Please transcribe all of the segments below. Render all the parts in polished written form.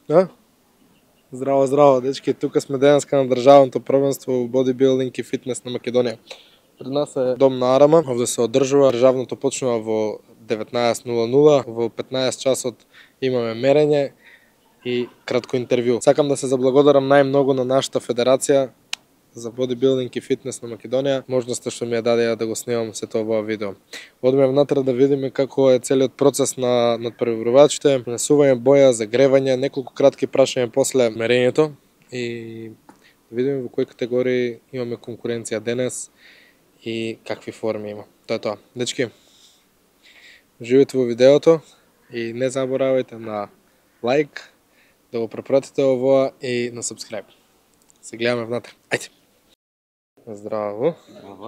Да? Здраво, здраво, дечки, тука сме денеска на државното првенство бодибилдинг и фитнес на Македонија. Пред нас е дом на Арама, овде се одржува, државното почнува во 19:00, во 15 часот имаме мерење и кратко интервју. Сакам да се заблагодарам најмногу на нашата федерација за бодибилдинг и фитнес на Македонија, можноста што ми ја дадеа да го снимам сето ова видео. Одиме внатре да видиме како е целиот процес на надпреварувачите, нанесување боја, загревање, неколку кратки прашања после мерењето и да видиме во кои категории имаме конкуренција денес и какви форми има. Тоа е тоа. Дечки, живите во видеото и не заборавајте на лайк, да го препратите овоа и на subscribe. Се гледаме внатре. Ајде! Здраво.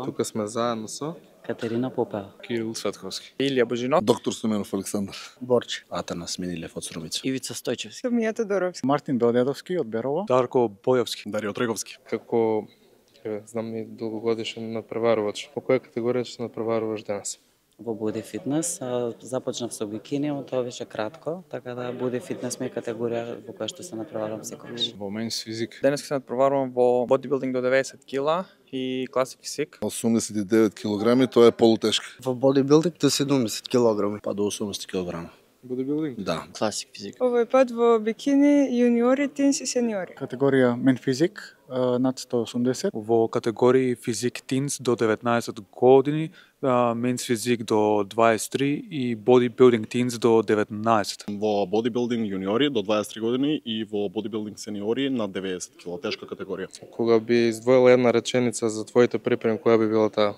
Тука сме заедно со Катерина Попева, Кирил Светковски, Илија Божинов, доктор Стоменов Александар, Борче, Атанас Минилев од Срумица, Ивица Стојчевски, Сомија Тодоровски, Мартин Белдедовски од Берово, Дарко Бојовски, Дарио Треговски. како знам и долгогодишен надпреварувач. По која категорија ќе се надпреваруваш денес? во Буди фитнес. Започнав со бикини, но тоа беше кратко, така да Буди фитнес ми е категорија во која што се надпреварувам секогаш. во менс физик, Денес се надпреварувам во бодибилдинг до 90 кила и класик физик. 89 килограми, тоа е полутешка. Во бодибилдинг до 70 кг, па до 80 кг. Бодибилдинг? Да. Класик физик. Овој пат во бикини, јуниори, тинс и сениори. категорија мен физик над 180, во категории физик тинс до 19 години, менс физик до 23 и бодибилдинг тинс до 19. Во бодибилдинг јуниори до 23 години и во бодибилдинг сениори над 90 кг, тешка категорија. Кога би издвоила една реченица за твоите припреми, која би била таа?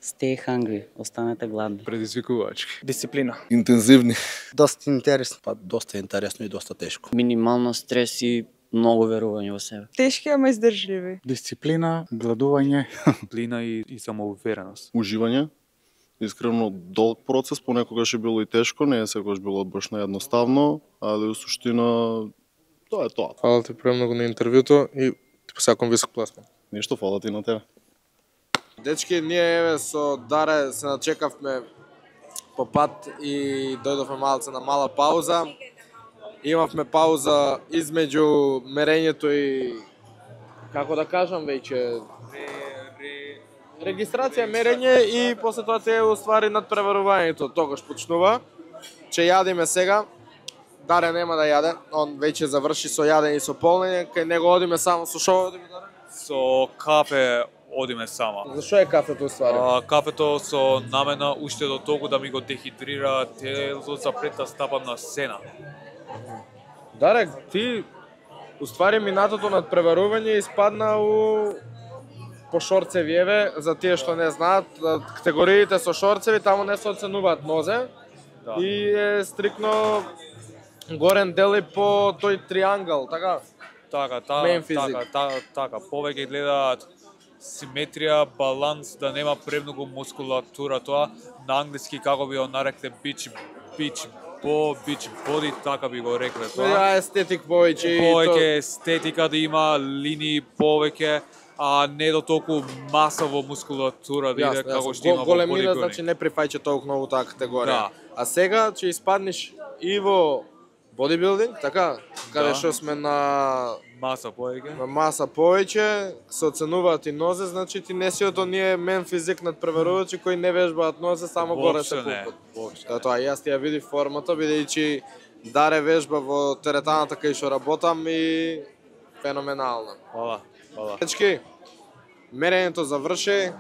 Stay hungry, останете гладни. Предизвикувачки, Дисциплина. интензивни, Доста интересно. Па доста интересно и доста тешко. Минимално стрес и многу верување во себе. Тешки, ама издржливи. дисциплина, гладување, Плина и самоувереност. Уживање. Искрено долг процес, понекогаш е било и тешко, не е секогаш било баш наедноставно, али у суштина тоа е тоа. Фала ти премногу на интервјуто и ти посакувам висок пласман. Ништо, фала ти на тебе. Дечки, ние еве со Даре се начекавме по пат и дојдовме малце на мала пауза. Имавме пауза измеѓу мерењето и како да кажам веќе регистрација, мерење и после тоа те уствари надпреварувањето. Тогаш почнува. Че јадиме сега. Даре нема да јаде, он веќе заврши со јадење и со полнење, кај него одиме само со шо одиме, Даре? Со кафе одиме сама. Зашо е кафето уствари? Кафето со намена уште до толку да ми го дехидрира телото за пред да стапам на сцена. Даре, ти уствари минатото надпреварување испадна у по шорцеви, еве, за тие што не знаат, категориите со шорцеви таму не се оценуваат нозе Да. и е стрикно горен дел и по тој триангл, така? Така, Main physique. така, повеќе гледаат симетрија, баланс, да нема премногу мускулатура, тоа на англиски како би го нарекле beach body, така би го рекле тоа. Тоа е естетик повеќе и Повеќе естетика да има линии повеќе, а не до толку маса во мускулатура да иде како што има во големина, бодибилдинг. значи не прифаќа толку многу таа категорија. Да. А сега ќе испаднеш и во бодибилдинг, така? Каде Да. што сме на Маса повеќе. маса повеќе, се оценуваат и нозе, значи ти не си од оние мен физик надпреварувачи кои не вежбаат нозе, само горе се Воопшто не. пупат. Тоа, јас ти ја видив формата, бидејќи Даре вежба во теретаната кај што работам и феноменално. Хвала. Дечки, мерењето заврши,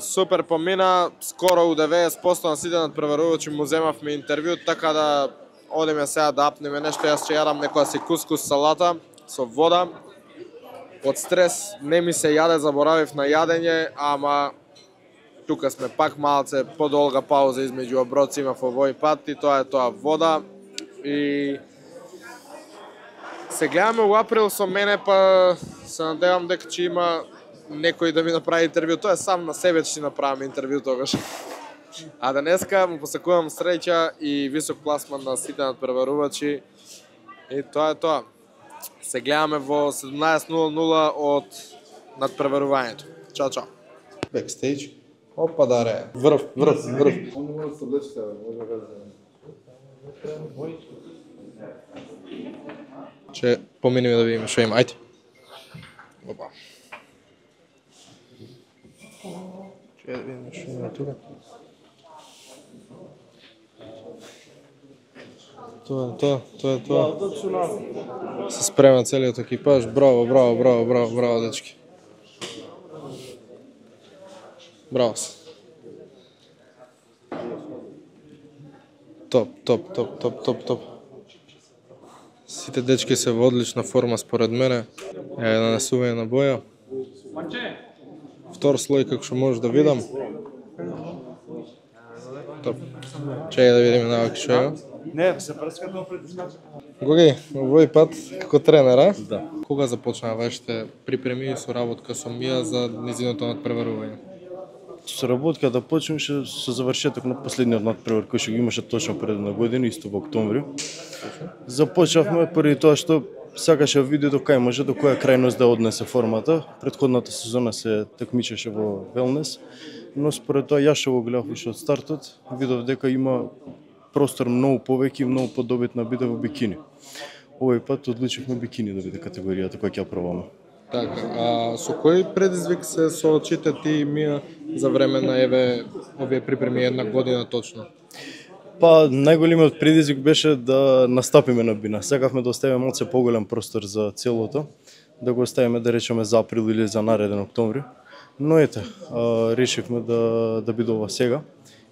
супер помина, скоро у 90% на сите надпреварувачи му земавме интервју, така да одиме сега да апнеме нешто, јас ќе јадам некоја си кускус салата со вода. Од стрес не ми се јаде, заборавив на јадење, ама тука сме пак малце подолга пауза измеѓу оброци имав овој пат и тоа е тоа вода. И се гледаме у април со мене, па се надевам дека ќе има некој да ми направи интервју. Тоа е сам на себе ќе си направам интервју тогаш. А денеска му посакувам среќа и висок пласман на сите надпреварувачи. И тоа е тоа. Се гледаме во 17:00 од надпреварувањето. Чао, чао. Бекстейдж. Опа, Даре. Врв. може да се облечете, може да Че поминеме да видиме што има. Ајде. Опа. Че да видиме што има тука. Тоа е тоа. Се спрема целиот екипаж. Браво, дечки. Браво се. Топ. Сите дечки се во одлична форма според мене. Една нанесување на боја. Втор слој како што може да видам. Топ. Чекај да видиме наваки што е. Не, се прска тоа предизвика. Гоги, овој пат како тренер, а? Да. Кога започнаа вашите припреми и соработка со Мија за нејзиното надпреварување? Соработката почнеше со завршеток на последниот надпревар кој што го имаше точно пред една година, исто во октомври. Започнавме поради тоа што сакаше видеото кај може до која крајност да однесе формата. Претходната сезона се такмичеше во велнес, но според тоа јас што го гледав уште од стартот, видов дека има простор многу повеќе и многу подобитна биде во бикини. Овој пат одлучивме бикини да биде категоријата која ќе ја пробаме. Така, а со кој предизвик се соочите ти и Мија за време на овие припреми една година точно? Па најголемиот предизвик беше да настапиме на бина. Сакавме да оставиме малце поголем простор за целото, да го оставиме да речеме за април или за нареден октомври. Но ете, решивме да биде ова сега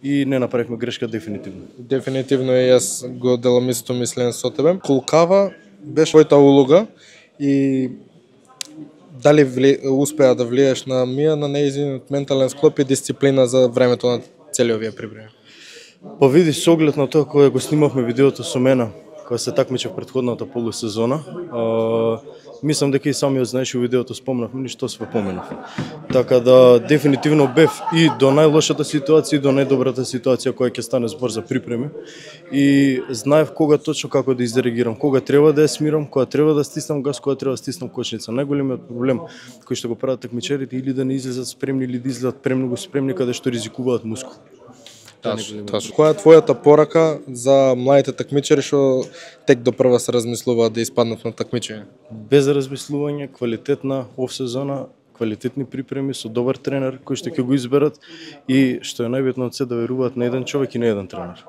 и не направивме грешка дефинитивно. Дефинитивно и јас го делам исто мислење со тебе. Колкава беше твојата улога и дали успеа да влиеш на Мија на нејзиниот ментален склоп и дисциплина за времето на целиот овие припреми? Па види, со оглед на тоа кога го снимавме видеото со мене, кога се такмичев претходната полусезона, мислам дека и самиот знаеш у видеото спомнавме ни што све поменав. Така да дефинитивно бев и до најлошата ситуација и до најдобрата ситуација која ќе стане збор за припреми и знаев кога точно како да изреагирам, кога треба да ја смирам, кога треба да стиснам газ, кога треба да стиснам кочница. Најголемиот проблем кој што го прават такмичарите или да не излезат спремни или да излезат премногу спремни каде што ризикуваат мускул. Точно. Која е твојата порака за младите такмичари што тек до прва се размислуваат да испаднат на такмичење? Без размислување, квалитетна офсезона, квалитетни припреми со добар тренер кој што ќе го изберат и што е најбитно од се да веруваат на еден човек и на еден тренер.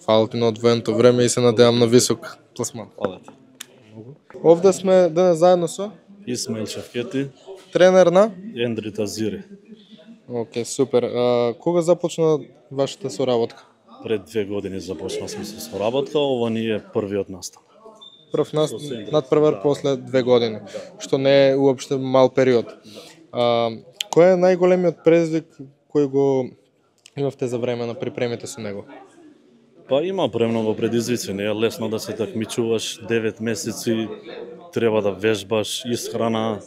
Фала ти на одвоеното време и се надевам на висок пласман. Овде сме денес заедно со Исмаил Шафкети, тренер на Ендрита Зири. Океј, супер. Кога започна вашата соработка? Пред 2 години започнавме се соработка, ова ни е првиот настан. Прв надпревар после 2 години, што не е уопште мал период. Кој е најголемиот предизвик кој го имавте за време на припремите со него? Па има премногу предизвици, не е лесно да се такмичуваш 9 месеци, треба да вежбаш, исхрана,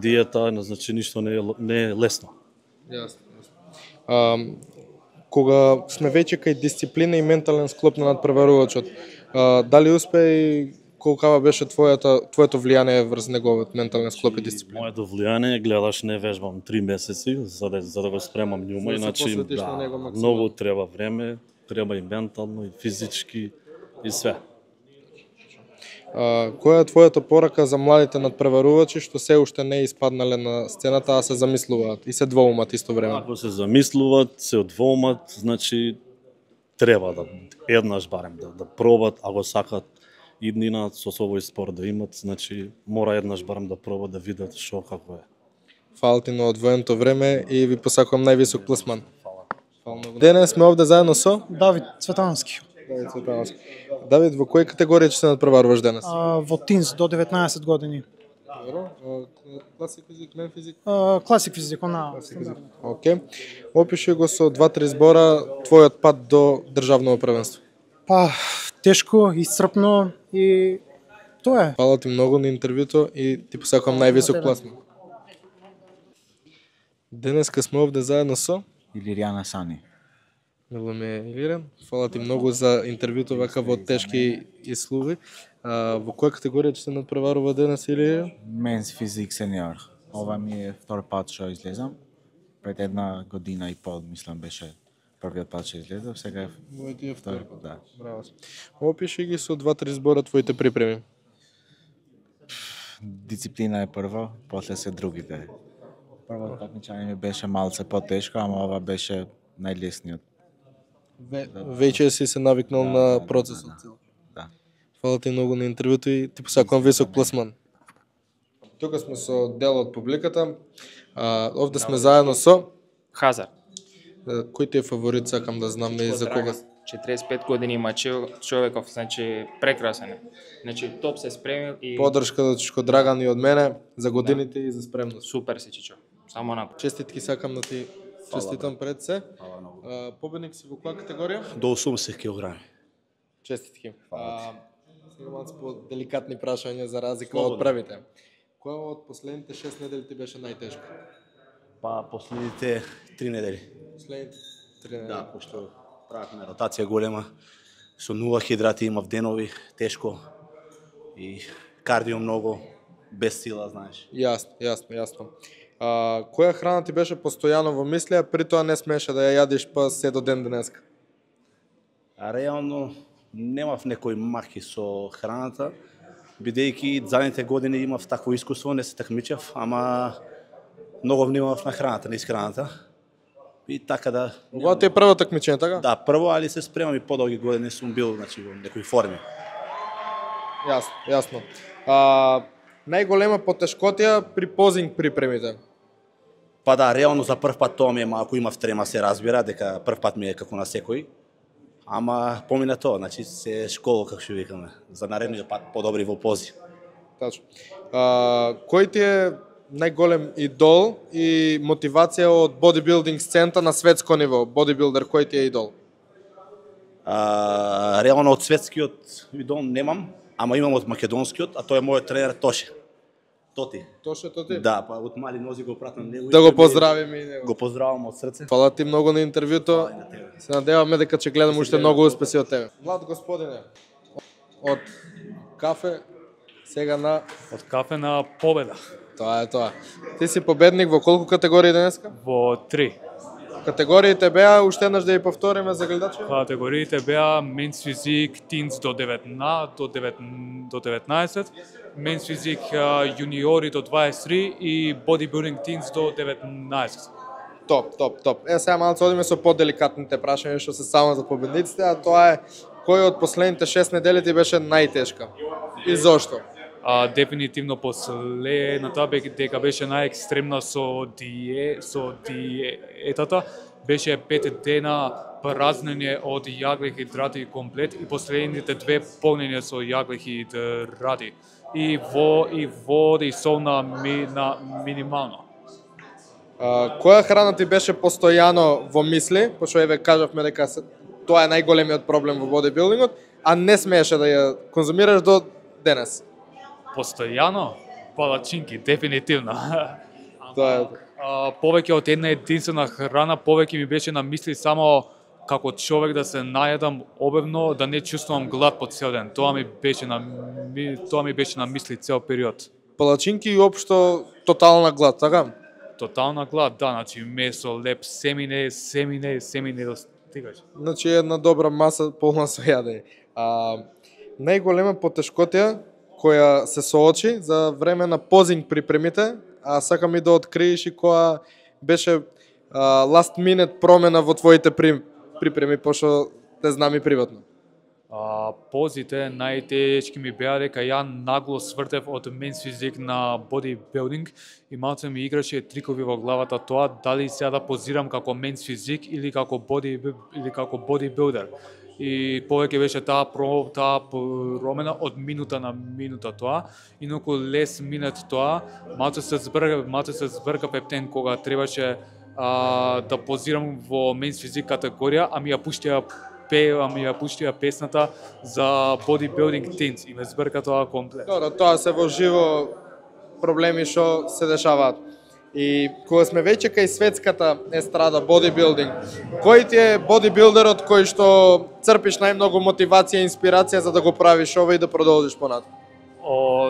диета, значи ништо не е лесно. Јасно. Кога сме веќе кај дисциплина и ментален склоп на надпреварувачот, дали успе и колкава беше твоето влијание врз неговиот ментален склоп и дисциплина? Моето влијание, гледаш, не вежбам 3 месеци за да го спремам њума, иначе многу треба време, треба и ментално и физички и све. Која е твојата порака за младите надпреварувачи што се уште не испаднале на сцената, а се замислуваат и се двоумат исто време? Ако се замислуваат, се одвоумат, значи треба да еднаш барем да пробат, ако сакат иднина со овој спорт да имат, значи мора еднаш барем да пробат да видат што како е. Фала ти на одвоеното време и ви посакувам највисок пласман. Фала. Денес сме овде заедно со Давид Цветановски. Давид, во која категорија ќе се надпреваруваш денес? Во тинс до 19 години. Класик физик, мен физик? Класик физик, она. Океј. Опиши го со 2-3 збора твојот пат до државно првенство. Па, тешко, исцрпно и тоа е. Фала ти многу на интервјуто и ти посакувам највисок пласман. Денеска сме овде заедно со Илиријана Сани. Мило ми е, Илирен. Фала ти многу за интервјуто вака во тешки услови. Во која категорија ќе се надпреварува денес, Илирен? Менс физик сениор. Ова ми е втор пат што излезам. Пред една година и пол, мислам, беше првиот пат што излезав, сега е втори пат. Да. Браво. Опиши ги со 2-3 збора твоите припреми. дисциплина е прво, после се другите. Прво такмичање ми беше малце потешко, ама ова беше најлесниот. Веќе си се навикнал на процесот. Да. Фала ти многу на интервјуто и ти посакувам висок пласман. Тука сме со дел од публиката. Овде сме заедно со Хазар. Кој ти е фаворит, сакам да знам и за кога? 45 години има човеков, значи прекрасен е. Значи топ се спремил и Подршка до Чичко Драган и од мене за годините и за спремност. супер си Чичо. Само напред. Честитки сакам да ти честитам пред се. Победник си во која категорија? До 80 кг. Честитки. Сега малку по-деликатни прашања за разлика од првите. Која од последните 6 недели ти беше најтешка? Па последните 3 недели. Последните 3 недели. Да, пошто правевме ротација голема, со 0 хидрати имав денови, тешко и кардио многу, без сила, знаеш. Јасно. Која храна ти беше постојано во мисли, а при тоа не смееше да ја јадиш па се до ден денеска? Реално немав некој махи со храната, бидејќи задните години имав такво искуство, не се такмичав, ама многу внимавав на храната, на исхраната. И така да... Ова ти е прво такмичење, така? Да, прво, али се спремам и подолги години сум бил, значи, во некои форми. Јасно. Најголема потешкотија при позинг припремите? Па да, реално за прв пат тоа ми е малку, имав трема, се разбира, дека прв пат ми е како на секој. Ама помина тоа, значи се школа, како што викаме, за наредниот пат подобри во пози. Тачно. Кој ти е најголем идол и мотивација од бодибилдинг сцената на светско ниво? Бодибилдер, кој ти е идол? Реално од светскиот идол немам, ама имам од македонскиот, а тој е мојот тренер Тоше. Тоти. Тоше. Да, па од мали нози го пратам него. Да го поздравиме и него. Го поздравам од срце. Фала ти многу на интервјуто. Се надеваме дека ќе гледам уште многу успеси од тебе. Влад господине, од кафе сега на... Од кафе на победа. Тоа е тоа. Ти си победник во колку категории денеска? Во 3. Категориите беа, уште еднаш да ја повториме за гледачите? Категориите беа Men's Physique Teens до 19, Men's Physique Juniori до 23 и Bodybuilding Teens до 19. Топ. Сега малку одиме со поделикатните прашања што се само за победниците, а тоа е кој од последните 6 недели ти беше најтешка? И зошто? Дефинитивно последната дека беше најекстремна со диетата, беше 5 дена празнење од јагле хидрати комплет и последните 2 полнење со јагле хидрати. И вода и сол на минимално. Која храна ти беше постојано во мисли, пошто еве кажавме дека тоа е најголемиот проблем во бодибилдингот, а не смееше да ја конзумираш до денес? Постојано? Палачинки, дефинитивно. Тоа е. Повеќе од една единствена храна, повеќе ми беше на мисли само како човек да се наједам обевно, да не чувствувам глад по цел ден. Тоа ми беше на мисли цел период. Палачинки и општо тотална глад, така? Тотална глад, да, значи месо, леп, семине достигаш. Значи една добра маса полна со јадење. Најголема потешкотија која се соочи за време на позинг припремите, а сакам и да откриеш и која беше last minute промена во твоите припреми, пошто те знам и приватно. Позите најтешки ми беа дека ја нагло свртев од Men's Physique на бодибилдинг и малце ми играше трикови во главата тоа дали сега да позирам како Men's Physique или како бодибилдер. И повеќе беше таа промена од минута на минута тоа, инаку лес минет тоа, малце се збрка пептен кога требаше да позирам во Men's Physique категорија, а ми ја пуштија песната за Bodybuilding Teens и ме збрка тоа комплет. Добро, тоа се во живо проблеми што се дешаваат. И кога сме веќе кај светската естрада бодибилдинг, кој ти е бодибилдерот кој што црпиш најмногу мотивација и инспирација за да го правиш ова и да продолжиш понатаму?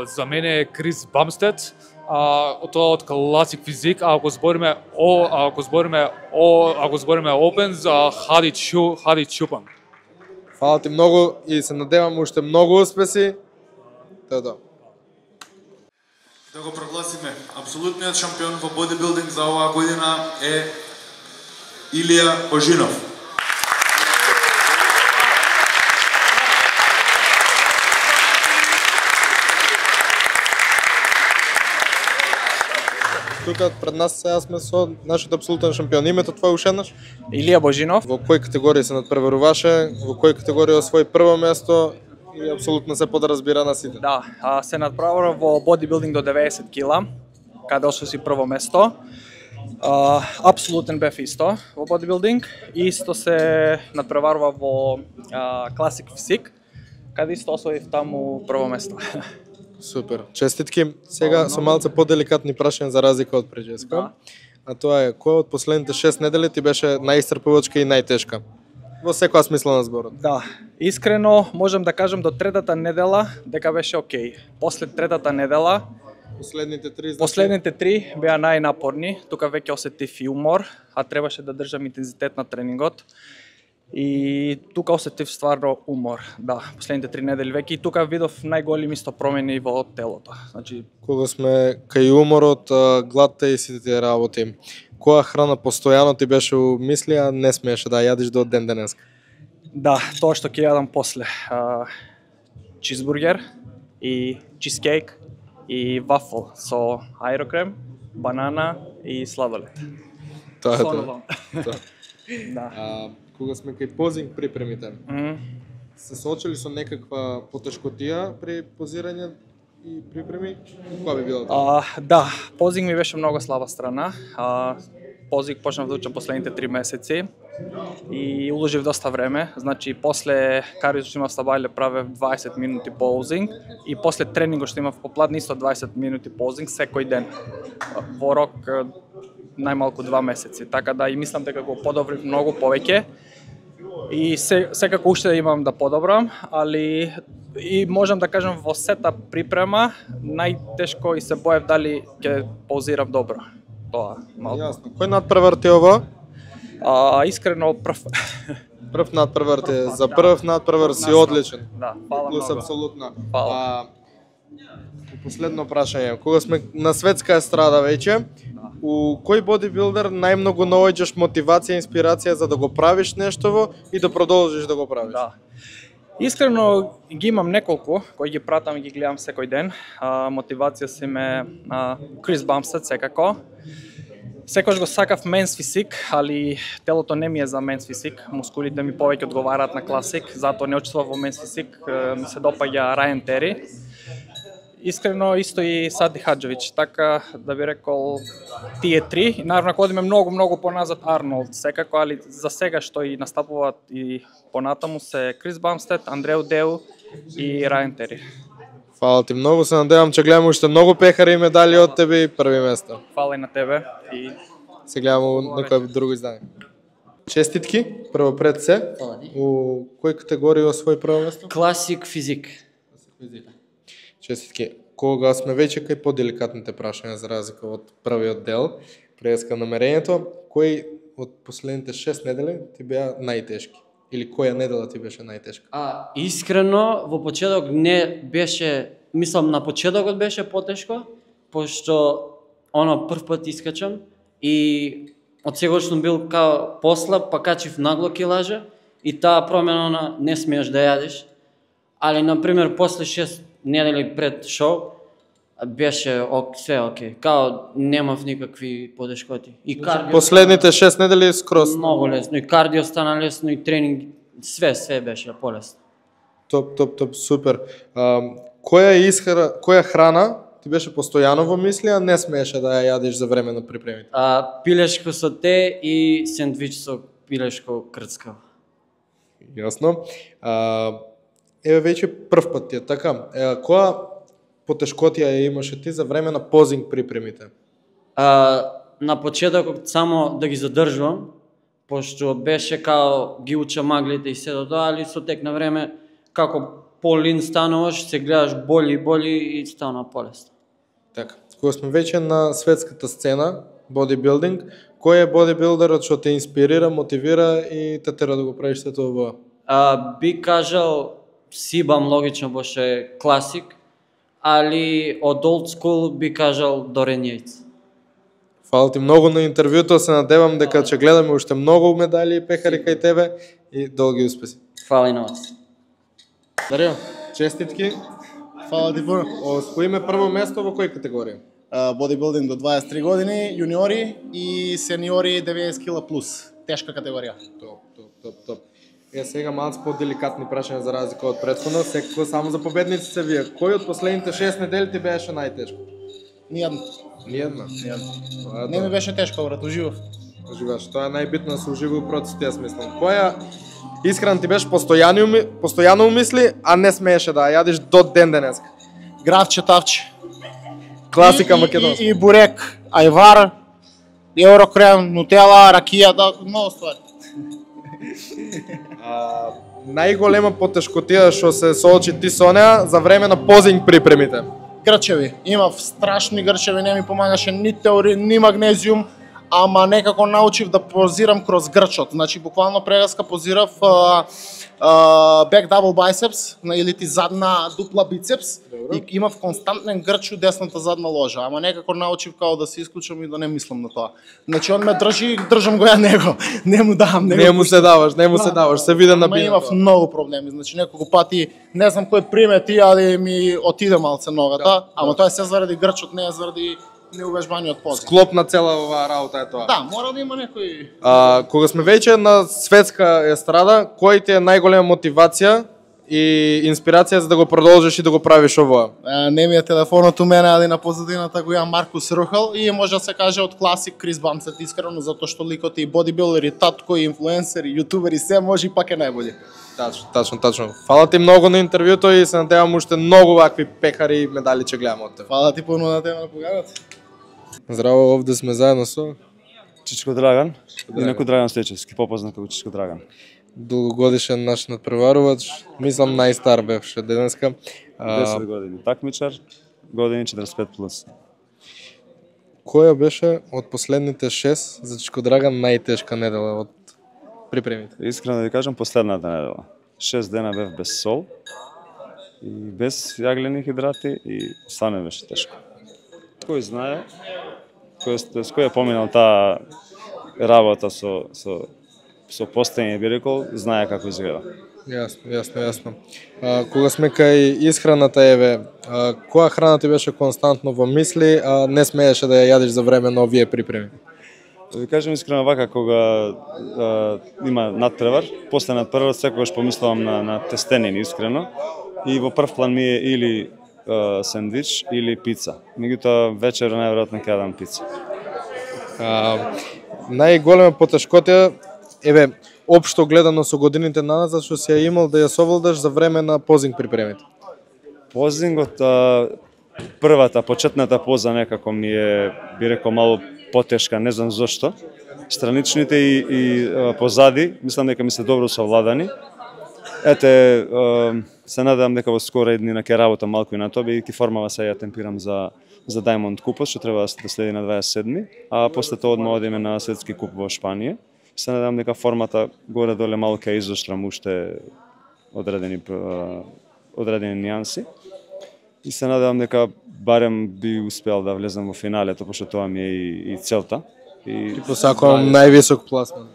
За мене е Крис Бамстед, тоа од Classic Physique, ако збориме Open за Хади Чупан. Фала ти многу и се надевам уште многу успеси. Тоа. Да го прогласиме. Апсолутниот шампион во бодибилдинг за оваа година е Илија Божинов. Тука пред нас сега сме со нашиот апсолутен шампион. Името твое уште еднаш? Илија Божинов. Во кои категории се надпреваруваше? Во кои категории освои прво место? И апсолутно се подразбира на сите. Да, се надпреварува во бодибилдинг до 90 кила, каде освои прво место. Апсолутен бев исто во бодибилдинг. Исто се надпреварува во класик физик, каде исто освоив таму прво место. Супер. Честитки. Сега со малце поделикатни прашања за разлика од преджеска. Да. А тоа е, која од последните 6 недели ти беше најисцрпувачка и најтешка? Во секоја смисла на зборот. Да, искрено можам да кажам до третата недела дека беше окей. После третата недела Последните три беа најнапорни. Тука веќе осетив и умор, а требаше да држам интензитет на тренингот. И тука осетив стварно умор. Да, последните 3 недели веќе и тука видов најголеми исто промени во телото. Значи, кога сме кај уморот, гладта и сите тие работи, која храна постојано ти беше у мисли, а не смееше да јадиш до ден денеска? Да, тоа што ќе јадам после. Чизбургер и чизкейк и вафл со аерокрем, банана и сладолед. Тоа е тоа. Да. Кога сме кај позинг припремите, се соочили со некаква потешкотија при позирање и припреми? Која би била тоа? Да, позинг ми беше многу слаба страна. Позинг почнав да учам последните 3 месеци и уложив доста време. Значи, после кариото што имав стабајле правев 20 минути позинг и после тренингот што имав по платни исто 20 минути позинг секој ден. Во рок најмалку 2 месеци. Така да и мислам дека го подобрив многу повеќе. И секако уште имам да подобрам, али и можам да кажам во сета припрема најтешко и се боев дали ќе паузирам добро. Тоа малку. Јасно. Кој надпревар ти ова? Искрено прв. Прв надпревар ти, за прв надпревар си одличен. Да, фала Плюс многу. апсолутно. Фала. Последно прашање, кога сме на светска естрада веќе, у кој бодибилдер најмногу наоѓаш мотивација и инспирација за да го правиш нештово и да продолжиш да го правиш? Да. Искрено ги имам неколку кои ги пратам и ги гледам секој ден. Мотивација си ме Крис Бамстед секако. Секојаш го сакав менс физик, али телото не ми е за менс физик. Мускулите ми повеќе одговараат на класик, затоа не учествував во менс физик. Ми се допаѓа Рајан Тери. Искрено исто и Сади Хаджевич, така да би рекол тие три. Наравно ако одиме многу поназад Арнолд секако, али за сега што и настапуваат и понатаму се Крис Бамстед, Андреу Деу и Рајан Тери. Фала ти многу, се надевам че гледаме уште многу пехари и медали од тебе и први место. Фала и на тебе и се гледаме у некој друго издание. Честитки, прво пред се. У кој категорија освои прво место? Класик физик. Честитки. Кога сме веќе кај поделикатните прашања за разлика од првиот дел, преска намерењето, кој од последните 6 недели ти беа најтешки? Или која недела ти беше најтешка? Искрено, во почеток не беше, мислам на почетокот беше потешко, пошто прв пат искачам и од секогаш сум бил као послаб, па качив нагло килажа и таа промена не смееш да јадиш. Али, например, после 6 недели пред шоу, беше све окей. Као немав никакви потешкоти. И кардио Последните 6 недели скроз. Многу лесно. И кардио стана лесно, и тренинг, све беше полесно. Топ, супер. Која храна ти беше постојано во мисли, а не смееше да ја јадиш за време на припремите? Пилешко со те и сендвич со пилешко крцкаво. Јасно. Еве веќе прв пат ти е така. Која потешкотија ја имаше ти за време на позинг припремите? На почетокот само да ги задржувам, пошто беше као ги уча маглите и сето тоа, али со тек на време како полин стануваш, се гледаш боли и стана полесно. Така. Кога сме веќе на светската сцена, бодибилдинг, кој е бодибилдерот што те инспирира, мотивира и те тера да го правиш сето ова? Би кажал Сибам логично, беше класик, али од old school би кажал Дорен Јајц. Фала ти многу на интервјуто, се надевам дека ќе гледаме уште многу медали и пехари кај тебе и долги успеси. Фала и на вас. Дарио, честитки. Фала ти puno. Освоиме прво место во кој категорија? Бодибилдинг до 23 години, јуниори и сениори 90 кила плюс. Тешка категорија. Топ. Сега малку по-деликатни прашања за разлика од претходно, секако само за победници се вие. Кој од последните 6 недели ти беше најтешко? Ниједна. Ниједна? Не ми беше тешко, брат, уживав. Уживаш, тоа е најбитно да се ужива у процесот, јас мислам. Која исхрана ти беше постојано умисли, а не смееше да ја јадиш до ден денеска? Гравче, тавче. Класика македонска. И бурек, ајвар, еврокрем, нутела, ракија, многу ствари. Најголема потешкотија што се соочи ти со неа за време на позинг припремите? Грчеви. Имав страшни грчеви, не ми помагаше ни теорин, ни магнезиум, ама некако научив да позирам кроз грчот. Значи, буквално прегаска позирав back double biceps, или ти задна дупла бицепс, и имав константен грч у десната задна ложа, ама некако научив као да се исклучам и да не мислам на тоа. Значи, он ме држи, држам го ја него, не му давам. Не му се даваш, се виде на Ама бино. имав многу проблеми, значи неколку пати, не знам кој примети, али ми отиде малце ногата, ама тоа е се заради грчот, не е заради неувежбаниот позив. Склоп на цела оваа работа е тоа. Да, мора да има некој... Кога сме веќе на светска естрада, кој ти е најголема мотивација и инспирација за да го продолжиш и да го правиш овоа? Не ми е телефонот у мене, али на позадината го имам Маркус Рухал и може да се каже од класик Крис Бамсет, искрено, затоа што ликот и бодибилдер, и татко, и инфлуенсер, и јутубер, и се може, и пак е најбољи. Тачно. Фала ти многу на интервјуто и се надевам уште многу вакви пехари и медали ќе гледаме од тебе. Фала ти puno на тебе на погледот. Здраво, овде сме заедно со Чичко Драган, инаку Драган Стечевски, попознат како Чичко Драган. Долгогодишен наш надпреварувач, мислам најстар бевше денеска. 10 години такмичар, години 45 плюс. Која беше од последните 6 за Чичко Драган најтешка недела од припремите? Искрено да ви кажам, последната недела. 6 дена бев без сол и без јаглени хидрати и стане беше тешко. Кој знае, кој е поминал таа работа со постојање, би рекол, знае како изгледа. Јасно. Кога сме кај исхраната, која храна ти беше константно во мисли, а не смееше да ја јадиш за време на овие припреми? Да ви кажем искрено вака, кога има надпревар, после надпревар секогаш помислувам на тестенини искрено и во прв план ми е или сендвич или пица. Меѓутоа вечер најверојатно ќе јадам пица. Најголема потешкотија, општо гледано со годините назад, што си ја имал да ја совладаш за време на позинг припремите? Позингот, првата, почетната поза некако ми е, би рекол, малку потешка, не знам зошто. Страничните и позади, мислам дека ми се добро совладани. Се надевам дека во скора дни ќе работам малку и на тоа, бидејќи формава се ја темпирам за Diamond купот, што треба да следи на 27-ми, а после тоа одма одиме на светски куп во Шпанија. Се надевам дека формата горе-доле малку ќе изоштрам уште одредени нијанси. И се надевам дека барем би успел да влезам во финалето, пошто тоа ми е и целта. И посакувам највисок пласман.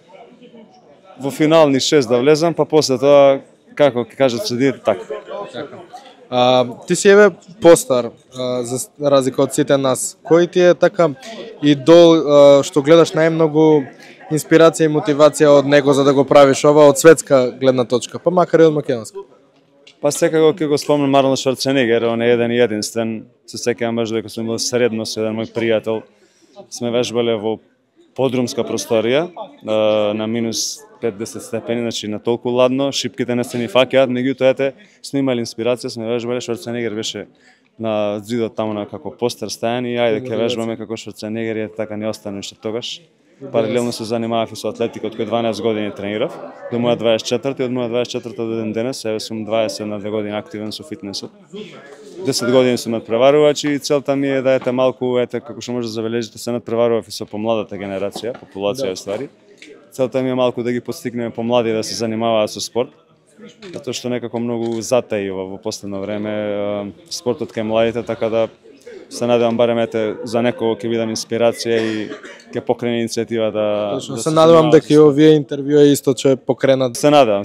Во финални 6 да влезам, па после тоа, како ќе кажат судиите, така. Ти си постар, за разлика од сите нас. Кој ти е така идол што гледаш најмногу инспирација и мотивација од него за да го правиш ова од светска гледна точка, па макар и од македонска? Па секако ќе го спомнам Арнолд Шварценегер, он е еден и единствен. Се сеќавам баш дека сум бил средно со еден мој пријател. Сме вежбале во подрумска просторија на минус 5-10 степени, значи на толку ладно, шипките не се ни фаќаат, меѓутоа сме имали инспирација, сме вежбале, Шварценегер беше на зидот таму на како постер стајан и ајде ќе вежбаме како Шварценегер и така не остане уште тогаш. Паралелно се занимавав и со атлетика, од кој 12 години тренирав, до моја 24 и од моја 24 до ден денес, еве сум 22 години активен со фитнесот. 10 години сум надпреварувач и целта ми е да малку, како што може да забележите, се надпреварував и со помладата генерација, популација ствари. Целта ми е малку да ги подстигнеме помлади да се занимаваат со спорт, затоа што некако многу затаива во последно време спортот кај младите, така да се надевам барем за некого ќе бидам инспирација и ќе покрене иницијатива да Точно, се надевам дека и овие интервјуа исто ќе покренат. Се надевам.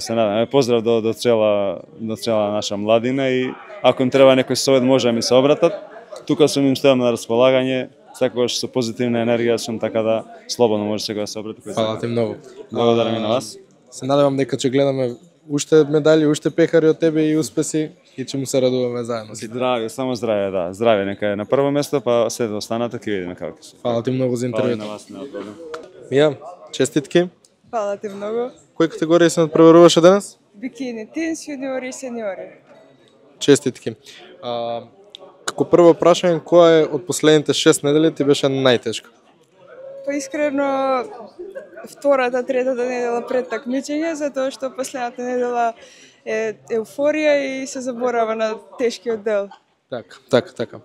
Поздрав до цела наша младина и ако им треба некој совет може да ми се обратат. Тука сум им стојам на располагање, секогаш со позитивна енергија сум, така да слободно може секој да се обрати. Фала ти многу. Благодарам и на вас. Се надевам дека ќе гледаме уште медали, уште пехари од тебе и успеси и ќе му се радуваме заедно. Здравје, само здравје, да. Здравје нека е на прво место, па след останата ќе видиме како ќе се. Фала ти многу за интервјуто. Фала и на вас, нема проблем. Мија, честитки. Фала ти многу. Кои категории се надпреваруваше денес? Бикини, тинс, јуниори и сениори. Честитки. Како прво прашање, која е од последните 6 недели ти беше најтешка? Па искрено, втората, третата недела пред такмичење, затоа што последната недела е еуфорија и се заборава на тешкиот дел. Така.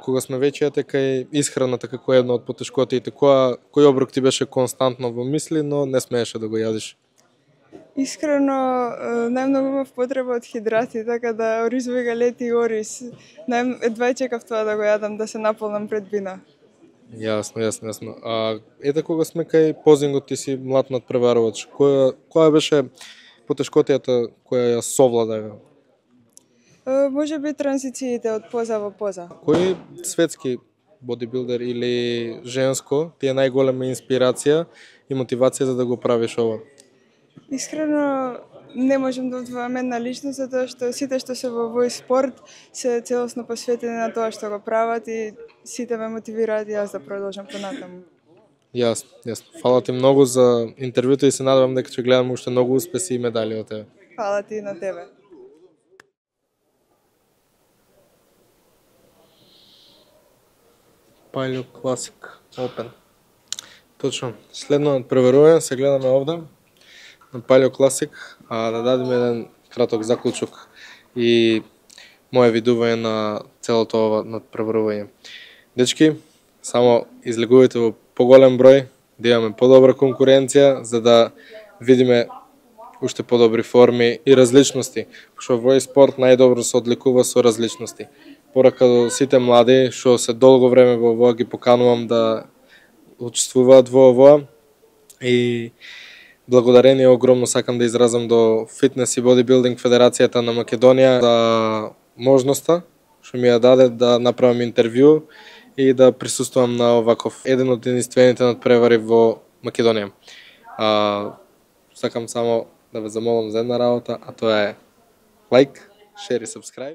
Кога сме веќе кај исхраната како една од потешкотиите, кој оброк ти беше константно во мисли, но не смееше да го јадиш? Искрено, најмногу имав потреба од хидрати, така да ориз галети и ориз. Едва чекав тоа да го јадам, да се наполнам пред бина. Јасно. Ете кога сме кај позингот, ти си млад надпреварувач. Која беше потешкотијата која ја совлада? Може би транзициите од поза во поза. Кој светски бодибилдер или женско ти е најголема инспирација и мотивација за да го правиш ова? Искрено, не можам да одвојам една личност, затоа што сите што се во овој спорт се целосно посветени на тоа што го прават и сите ме мотивираат и јас да продолжам понатаму. Јасно. Фала ти многу за интервјуто и се надевам дека ќе гледам уште многу успеси и медали од тебе. Фала ти и на тебе. Palio Classic Open. Точно. Следно надпреварување се гледаме овде на Palio Classic, да дадеме еден краток заклучок и моје видување на целото ова надпреварување. Дечки, само излегувајте во поголем број, да имаме подобра конкуренција, за да видиме уште подобри форми и различности, пошто овој спорт најдобро се одликува со различности. Порака до сите млади што се долго време во овоа ги поканувам да учествуваат во овоа и благодарение огромно сакам да изразам до Фитнес и Бодибилдинг Федерацијата на Македонија за можноста што ми ја даде да направам интервју и да присуствувам на оваков еден од единствените надпревари во Македонија. Сакам само да ве замолам за една работа, а тоа е лайк, шер и сабскрајб.